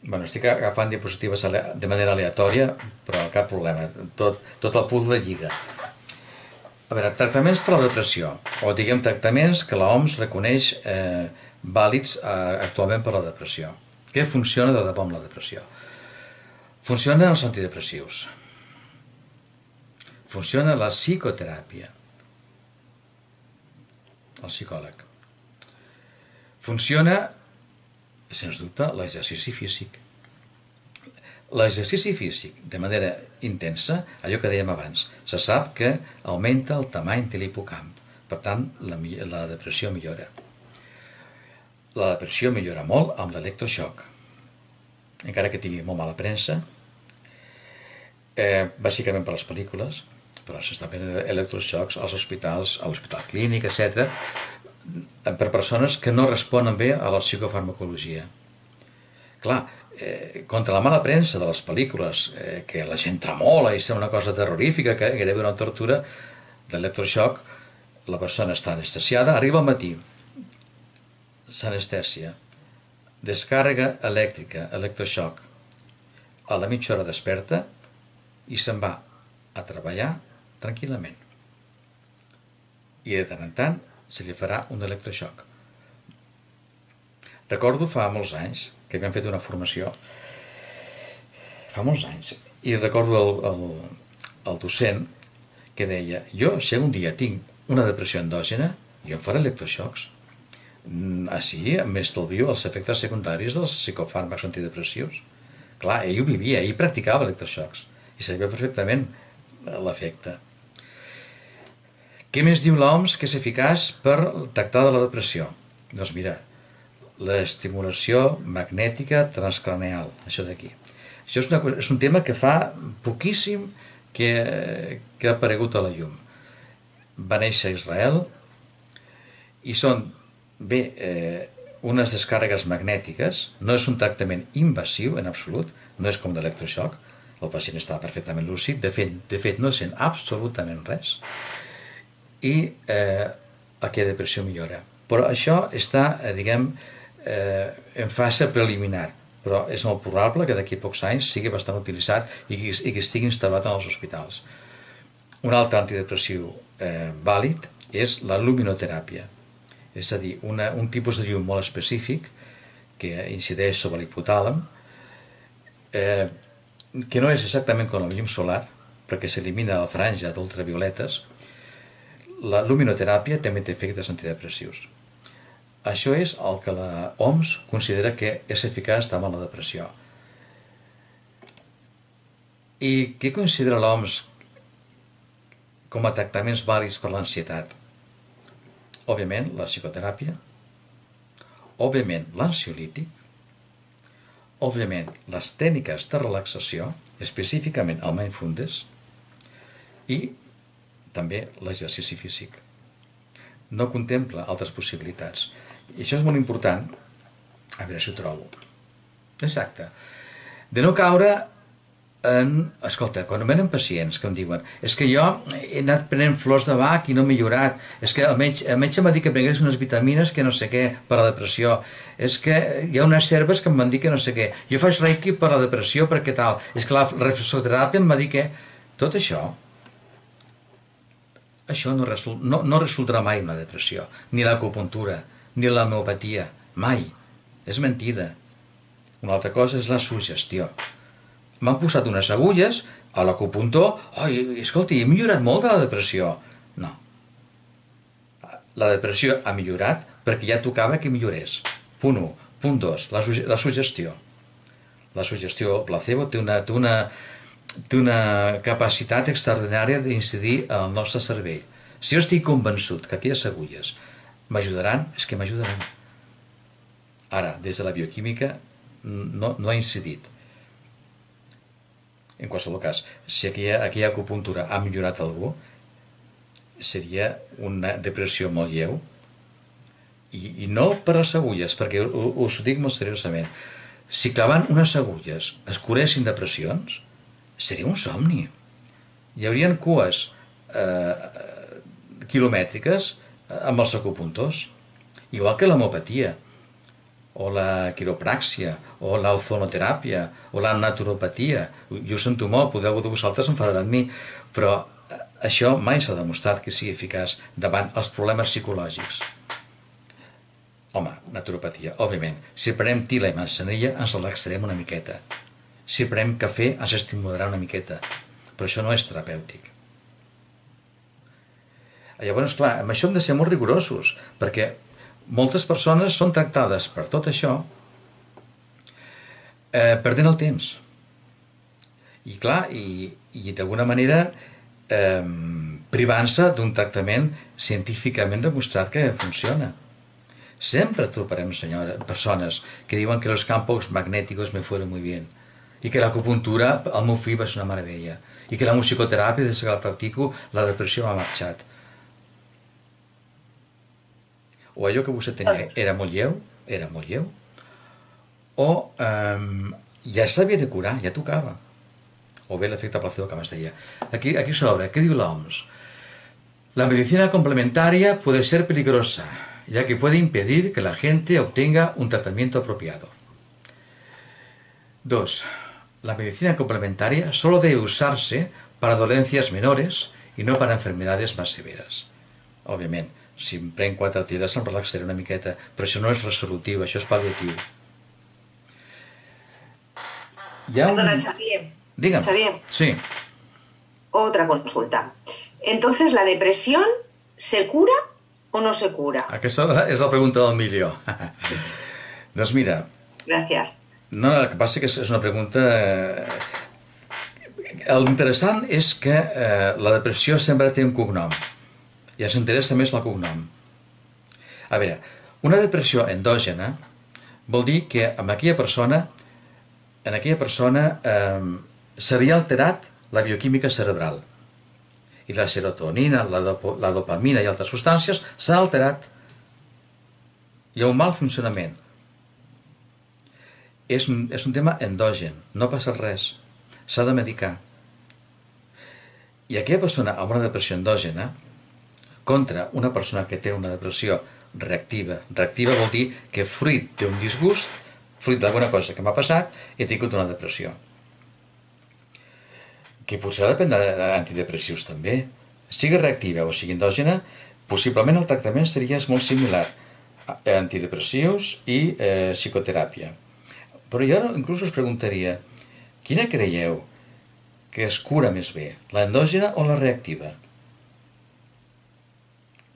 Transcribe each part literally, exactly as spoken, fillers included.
Bueno, estic agafant diapositives de manera aleatòria, però cap problema. Tot, tot el puzzle lliga. A veure, tractaments per a la depressió, o diguem tractaments que l'O M S reconeix eh, vàlids eh, actualment per a la depressió. Què funciona de debò amb la depressió? Funcionen els antidepressius. Funciona la psicoteràpia. El psicòleg. Funciona, sens dubte, l'exercici físic. L'exercici físic, de manera intensa, allò que dèiem abans, se sap que augmenta el tamany de l'hipocamp. Per tant, la, la depressió millora. La depressió millora molt amb l'electroxoc. Encara que tingui molt mala premsa, eh, bàsicament per les pel·lícules, però s'estan fent electroxocs als hospitals, a l'hospital clínic, etcètera, per persones que no responen bé a la psicofarmacologia. Clar, eh, contra la mala premsa de les pel·lícules, eh, que la gent tremola i sembla una cosa terrorífica, que gairebé una tortura, d'electroxoc, la persona està anestesiada, arriba al matí, s'anestèsia, descàrrega elèctrica, electroxoc, a la mitja hora desperta i se'n va a treballar tranquil·lament. I de tant en tant se li farà un electroxoc. Recordo fa molts anys que havíem fet una formació, fa molts anys, i recordo el, el, el docent que deia, jo si un dia tinc una depressió endògena, jo em faré electroxocs. Així m'estalvio els efectes secundaris dels psicofàrmacs antidepressius. Clar, ell ho vivia, ell practicava electroxocs i sabia perfectament l'efecte. Què més diu l'O M S que és eficaç per tractar de la depressió? Doncs mira, l'estimulació magnètica transcraneal, això d'aquí. Això és, una, és un tema que fa poquíssim que, que ha aparegut a la llum. Va néixer a Israel i són, bé, eh, unes descàrregues magnètiques, no és un tractament invasiu en absolut, no és com l'electroxoc, el pacient està perfectament lúcid, de fet, de fet no sent absolutament res, i eh, aquella depressió millora. Però això està, eh, diguem, eh, en fase preliminar, però és molt probable que d'aquí a pocs anys sigui bastant utilitzat i que, i que estigui instal·lat en els hospitals. Un altre antidepressiu eh, vàlid és la luminoteràpia, és a dir, una, un tipus de llum molt específic que incideix sobre l'hipotàlem, eh, que no és exactament com la llum solar, perquè s'elimina la franja d'ultravioletes. La luminoteràpia també té efectes antidepressius. Això és el que la O M S considera que és eficaç davant la depressió. I què considera l'O M S com a tractaments vàlids per l'ansietat? Òbviament, la psicoteràpia, òbviament, l'ansiolític, òbviament, les tècniques de relaxació, específicament el mindfulness, i també l'exercici físic. No contempla altres possibilitats. I això és molt important, a veure si ho trobo. Exacte. De no caure en... Escolta, quan em venen pacients que em diuen és que jo he anat prenent flors de Bach i no he millorat, és que el metge, el metge m'ha dit que prengués unes vitamines que no sé què per a la depressió, és que hi ha unes herbes que em van dir que no sé què, jo faig reiki per a la depressió perquè tal, és que la reflexoteràpia em va dir que... Tot això això no, resol, no, no resoldrà mai una depressió, ni l'acupuntura, ni l'homeopatia, mai. És mentida. Una altra cosa és la suggestió. M'han posat unes agulles a l'acupuntor, oi, escolti, he millorat molt de la depressió. No. La depressió ha millorat perquè ja tocava que millorés. Punt u. Punt dos. La, la suggestió. La suggestió placebo té una... Té una té una capacitat extraordinària d'incidir en el nostre cervell. Si jo estic convençut que aquelles agulles m'ajudaran, és que m'ajudaran. Ara, des de la bioquímica, no, no ha incidit. En qualsevol cas, si aquella, aquella acupuntura ha millorat algú, seria una depressió molt lleu, i, i no per les agulles, perquè us ho dic molt seriosament. Si clavant unes agulles es curessin depressions, seria un somni. Hi haurien cues eh, quilomètriques amb els acupuntors, igual que l'homeopatia. o la quiropràxia, o l'ozonoteràpia, o la naturopatia. Jo ho sento molt, podeu de vosaltres enfadar amb mi, però això mai s'ha demostrat que sigui eficaç davant els problemes psicològics. Home, naturopatia, òbviament. Si prenem tila i manzanilla, ens relaxarem una miqueta. Si prenem cafè, ens estimularà una miqueta. Però això no és terapèutic. Llavors, clar, amb això hem de ser molt rigorosos, perquè moltes persones són tractades per tot això eh, perdent el temps. I clar, i, i d'alguna manera eh, privant-se d'un tractament científicament demostrat que funciona. Sempre trobarem, senyora, persones que diuen que los campos magnéticos me fueron muy bien i que l'acupuntura al meu fill va ser una meravella i que la musicoteràpia, des que la practico, la depressió m'ha marxat. O allò que vostè tenia era molt lleu, era molt lleu, o um, ja s'havia de curar, ja tocava. O bé l'efecte placebo que m'es deia. Aquí, aquí sobre, què diu l'O M S? La medicina complementaria puede ser peligrosa, ya que puede impedir que la gente obtenga un tratamiento apropiado. Dos. La medicina complementaria solo debe usarse para dolencias menores y no para enfermedades más severas. Òbviament, si em prenc quatre tires em relaxaré una miqueta, però això no és resolutiu, això és pal·liatiu. Hi ha un... Perdona, Xavier. Dígame. Xavier. Sí. Otra consulta. Entonces, ¿la depresión se cura o no se cura? Aquesta és la pregunta del milió. Doncs mira... Gràcies. No, el que passa que és una pregunta... L'interessant és que eh, la depressió sempre té un cognom. Ja s'interessa més el cognom. A veure, una depressió endògena vol dir que en aquella persona, en aquella persona eh, seria alterat la bioquímica cerebral. I la serotonina, la, dopo, la dopamina i altres substàncies s'han alterat. Hi ha un mal funcionament. És un, és un tema endògen, no passa res, s'ha de medicar. I aquella persona amb una depressió endògena contra una persona que té una depressió reactiva. Reactiva vol dir que fruit d'un disgust, fruit d'alguna cosa que m'ha passat, he tingut una depressió. Que potser depèn d'antidepressius també. Sigui reactiva o sigui endògena, possiblement el tractament seria molt similar. Antidepressius i eh, psicoteràpia. Però jo inclús us preguntaria, quina creieu que es cura més bé, l'endògena o la reactiva?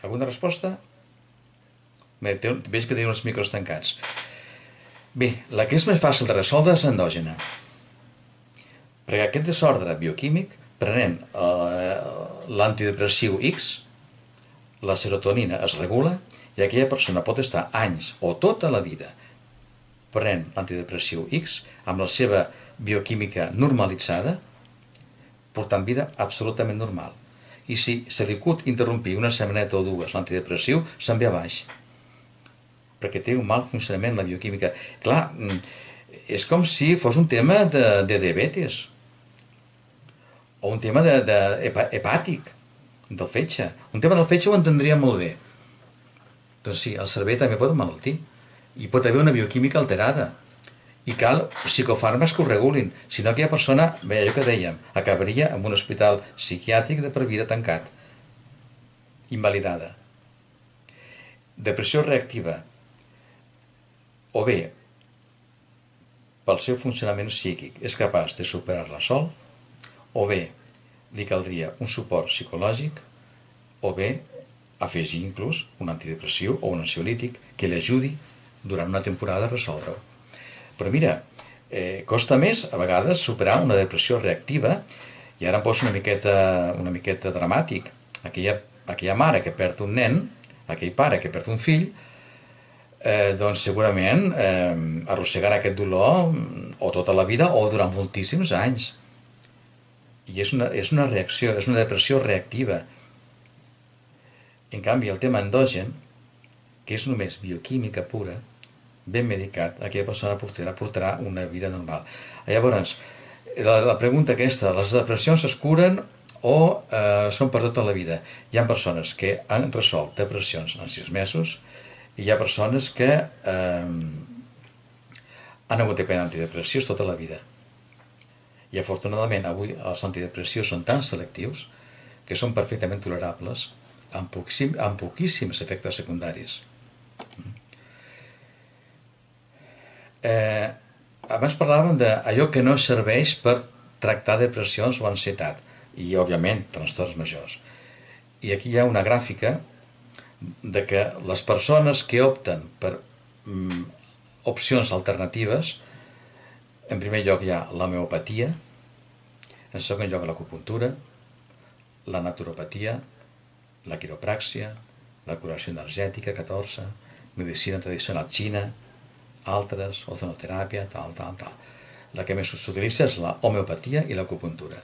Alguna resposta? Bé, veig que teniu els micros tancats. Bé, la que és més fàcil de resoldre és l'endògena. Perquè aquest desordre bioquímic, prenent eh, l'antidepressiu X, la serotonina es regula i aquella persona pot estar anys o tota la vida prenent l'antidepressiu X amb la seva bioquímica normalitzada, portant vida absolutament normal. I si se li acut interrompir una setmaneta o dues l'antidepressiu, se'n ve a baix. Perquè té un mal funcionament la bioquímica. Clar, és com si fos un tema de, de diabetes o un tema de, de hepàtic, del fetge. Un tema del fetge ho entendria molt bé. Doncs sí, el cervell també pot emmalaltir. I pot haver una bioquímica alterada. I cal psicofàrmacs que ho regulin. Si no, aquella persona, bé, allò que dèiem, acabaria en un hospital psiquiàtric de per vida tancat. Invalidada. Depressió reactiva. O bé, pel seu funcionament psíquic, és capaç de superar-la sol, o bé, li caldria un suport psicològic, o bé, afegir inclús un antidepressiu o un ansiolític que li ajudi durant una temporada a resoldre-ho. Però mira, eh, costa més a vegades superar una depressió reactiva, i ara em poso una miqueta, una miqueta dramàtic. Aquella, aquella mare que perd un nen, aquell pare que perd un fill, eh, doncs segurament eh, arrossegarà aquest dolor o tota la vida o durant moltíssims anys. I és una, és una reacció, és una depressió reactiva. En canvi, el tema endogen, que és només bioquímica pura, ben medicat, aquella persona portarà, portarà una vida normal. Llavors, la, la pregunta aquesta, les depressions es curen o eh, són per tota la vida? Hi ha persones que han resolt depressions en sis mesos i hi ha persones que eh, han hagut de prendre antidepressius tota la vida. I afortunadament avui els antidepressius són tan selectius que són perfectament tolerables amb, poquíssim, amb poquíssims efectes secundaris. Eh, abans parlàvem d'allò que no serveix per tractar depressions o ansietat i, òbviament, trastorns majors. I aquí hi ha una gràfica de que les persones que opten per mm, opcions alternatives, en primer lloc hi ha l'homeopatia, en segon lloc l'acupuntura, la naturopatia, la quiropràxia, la curació energètica, catorze, medicina tradicional xina, altres, ozonoteràpia, tal, tal, tal. La que més s'utilitza és la homeopatia i l'acupuntura.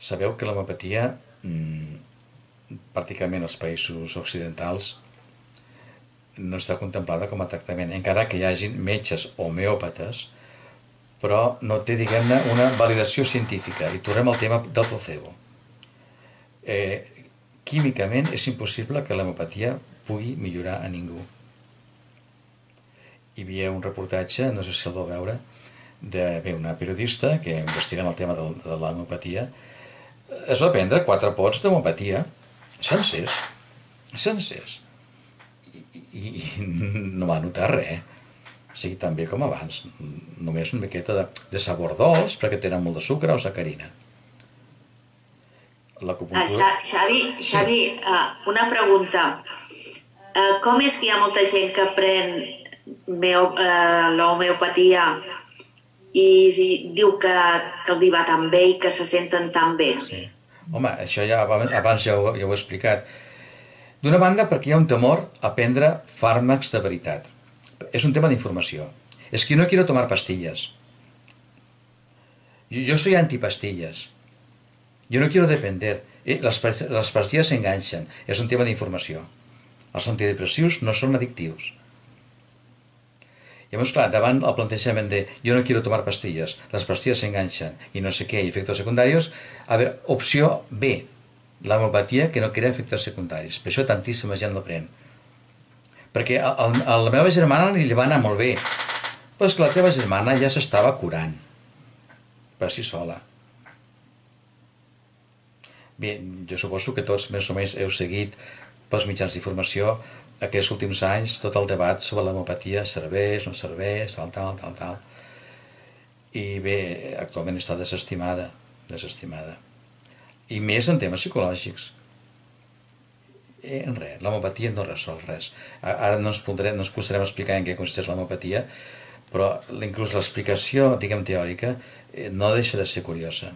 Sabeu que l'homeopatia, mmm, pràcticament als països occidentals, no està contemplada com a tractament, encara que hi hagin metges homeòpates, però no té, diguem-ne, una validació científica. I tornem al tema del placebo. Eh, químicament és impossible que l'homeopatia pugui millorar a ningú. Hi havia un reportatge, no sé si el vau veure, d'una periodista que investiga el tema de, de l'homeopatia. Es va prendre quatre pots d'homeopatia, sencers, sencers, i, i, i no va notar res. O sigui, tan bé com abans, només una miqueta de, de sabor dolç, perquè tenen molt de sucre o sacarina. L'acupuntura... Uh, Xavi, Xavi sí. uh, una pregunta. Uh, com és que hi ha molta gent que pren uh, l'homeopatia i diu que, que els va tan bé i que se senten tan bé? Sí. Home, això ja abans ja ho, ja ho he explicat. D'una banda, perquè hi ha un temor a prendre fàrmacs de veritat. Es un tema de información. Es que no quiero tomar pastillas. Yo, yo soy antipastillas. Yo no quiero depender. Eh? Las, las pastillas se enganchan. Es un tema de información. Els antidepressius no són addictius. Llavors, clar, davant el plantejament de yo no quiero tomar pastillas, las pastillas se enganchan y no sé qué, y efectos secundarios, a veure, opció B, l'homeopatia que no crea efectes secundaris. Per això tantíssima gent la pren. Perquè a, a, a la meva germana li va anar molt bé, però és que la teva germana ja s'estava curant per si sola. Bé, jo suposo que tots més o menys heu seguit pels mitjans d'informació aquests últims anys tot el debat sobre l'homeopatia, serveix, no serveix, tal, tal, tal, tal. I bé, actualment està desestimada, desestimada. I més en temes psicològics. En res, l'homeopatia no resol res. Ara no ens, podrem, no ens posarem a explicar en què consisteix l'homeopatia, però inclús l'explicació, diguem, teòrica, no deixa de ser curiosa.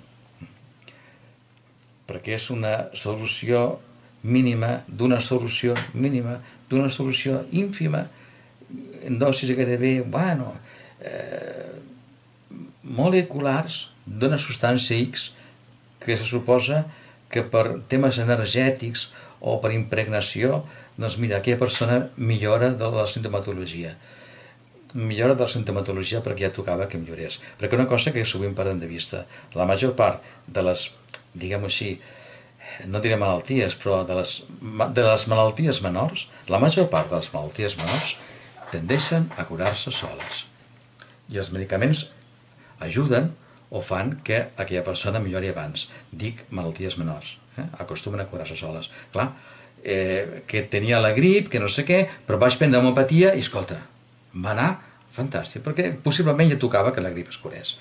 Perquè és una solució mínima d'una solució mínima d'una solució ínfima en dosis gairebé, bueno, eh, moleculars d'una substància X que se suposa que per temes energètics o per impregnació, doncs mira, aquella persona millora de la sintomatologia. Millora de la sintomatologia perquè ja tocava que millorés. Perquè una cosa que sovint perdem de vista, la major part de les, diguem-ho així, no diré malalties, però de les, de les malalties menors, la major part de les malalties menors tendeixen a curar-se soles. I els medicaments ajuden o fan que aquella persona millori abans. Dic malalties menors. Eh? Acostumen a curar-se soles. Clar, eh, que tenia la grip, que no sé què, però vaig prendre homeopatia i, escolta, va anar fantàstic, perquè possiblement ja tocava que la grip es curés.